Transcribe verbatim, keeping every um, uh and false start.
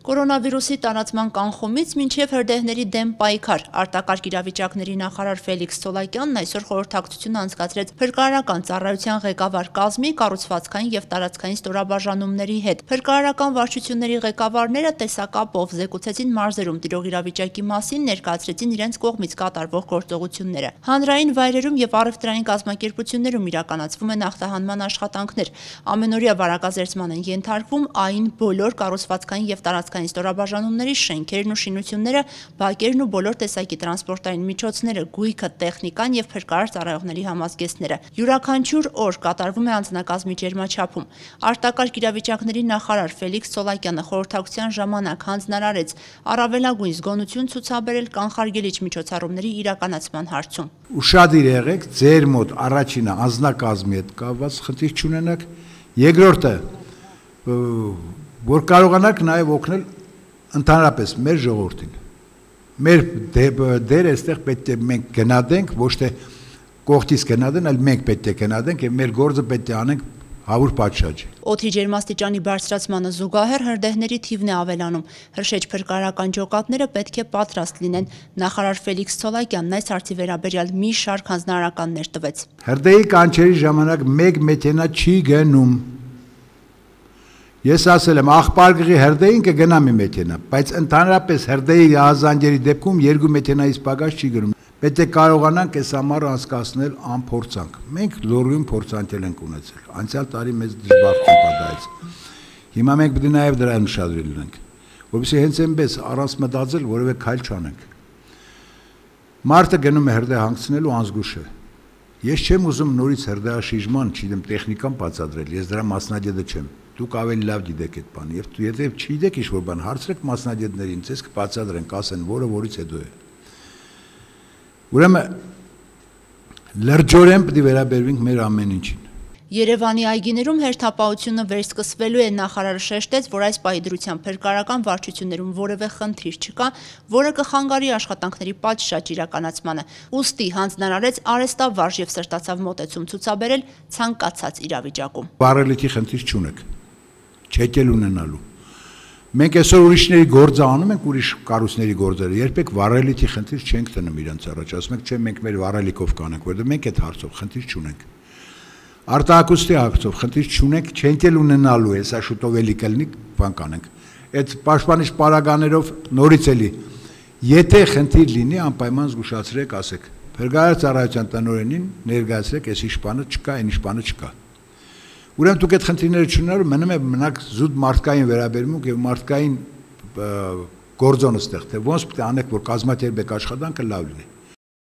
Կորոնավիրուսի տարածման կանխումից մինչև հրդեհների դեմ պայքար, արտակարգ իրավիճակների նախարար Ֆելիքս Ցոլակյանն այսօր խորհրդակցություն անցկացրեց փրկարարական ծառայության ղեկավար կազմի, կառուցվածքային և տարածքային ստորաբաժանումների հետ։ Փրկարարական վարչությունների ղեկավարները տեսակապով զեկուցեցին մարզերում տիրող իրավիճակի մասին, ներկայացրեցին իրենց կողմից կատարվող գործողությունները։ Հանրային վայրերում և առևտրային կազմակերպություններում իրականացվում են ախտահանման աշխատանքներ։ Ամենօրյա վարակազերծման են ենթարկվում այն բոլոր կառուցվածքային և տարածքային ստորաբաժանումների շենքերն ու շինությունները, բակերն ու բոլոր տեսակի տրանսպորտային միջոցները, գույքը, տեխնիկան և փրկարար ծառայողների համազգեստները։ Յուրաքանչյուր օր կատարվում է անձնակազմի ջերմաչափում։ Արտակարգ իրավիճակների նախարար Ֆելիքս Ցոլակյանը խորհրդակցության ժամանակ հանձնարարեց առավելագույն զգոնություն ցուցաբերել կանխարգելիչ միջոցառումների իրականացման հարցում։ Ուշադիր եղեք, ձեր մոտ առաջինը անձնակազմի հետ կապված խնդիր չունենաք, երկրորդը որ կարողանաք նաև օգնել ընդհանրապես մեր ժողովրդին։ Մեր դերը այստեղ պետք է մենք գնահատենք, ոչ թե կողքից գնահատեն, այլ մենք պետք է գնահատենք եւ մեր գործը պետք է անենք հավուր պատշաճ։ Օդի ջերմաստիճանի բարձրացմանը զուգահեռ հրդեհների թիվն է ավելանում։ Հրշեջ փրկարարական ջոկատները պետք է պատրաստ լինեն։ Նախարար Ֆելիքս Ցոլակյանն այս հարցի վերաբերյալ մի շարք հանձնարարականներ տվեց։ Հրդեհի կանչերի ժամանակ մեկ մեքենա չի գնում։ Ես ասել եմ, աղբարգղի հրդեհին կգնա մի մեքենա, բայց ընդհանրապես հրդեհի հազանգերի դեպքում երկու մեքենայից պակաս չի գնում։ Պետք է կարողանանք այս ամառը անցկացնել անփորձանք։ Մենք լուրջ փորձանքել ենք ունեցել։ Անցյալ տարի մեզ դժբախտություն պատահեց։ Հիմա մենք պետք է նաև դրան ուշադրել լինենք, որովհետեւ հենց այնպես առանց մտածել որևէ քայլ չանենք։ Մարդը գնում է հրդեհ հանգցնելու անզգուշ է։ Ես չեմ ուզում նորից հրդեհաշիժման, չգիտեմ, տեխնիկան բացատրել, ես դրա մասնագետը չեմ։ Դուք ավելի լավ գիտեք այդ բանը, եւ եթե չգիտեք ինչ-որ բան, հարցրեք մասնագետներին, ցես կբացատրեն, կասեն, որը որից հետո է։ Ուրեմն լրջորեն պետք է վերաբերվենք մեր ամեն ինչին։ Երևանի այգիներում հերթապահությունը վերսկսվելու է, նախարարը շեշտեց, որ այս պահի դրությամբ փրկարարական վարչություններում որևէ խնդիր չկա, որը կխանգարի աշխատանքների պատշաճ իրականացմանը։ Ուստի հանձնարարեց արհեստավարժ եւ սրտացավ մոտեցում ցուցաբերել ցանկացած իրավիճակում։ Վարելիքի խնդիր չունեք, չեք էլ ունենալու։ Մենք այսօր ուրիշների գործը անում ենք, ուրիշ կառույցների գործերը, երբեք վարելիքի խնդիր չենք տնում իրենց առաջ, ասում ենք, չէ, մենք մեր վարելիքով կանենք, որովհետեւ մենք այդ հարցով խնդիր չունենք։ Արտահակոստի հարցով խնդիր չունենք, չենք էլ ունենալու, հեսա շուտով էլի կլինի, բան կանենք։ Այդ պաշտպանիչ պարագաներով նորից էլի, եթե խնդիր լինի, անպայման զգուշացրեք, ասեք, փրկարար ծառայության տնօրենին ներկայացրեք, այս իշխանը չկա, այն իշխանը չկա։ Ուրեմն դուք այդ խնդիրները չունենալու մնում է մնաք զուտ մարդկային վերաբերմունք եւ մարդկային գործոնը ստեղ, թե ոնց պետք է անեք, որ կազմակերպեք աշխատանքը լավ լինի։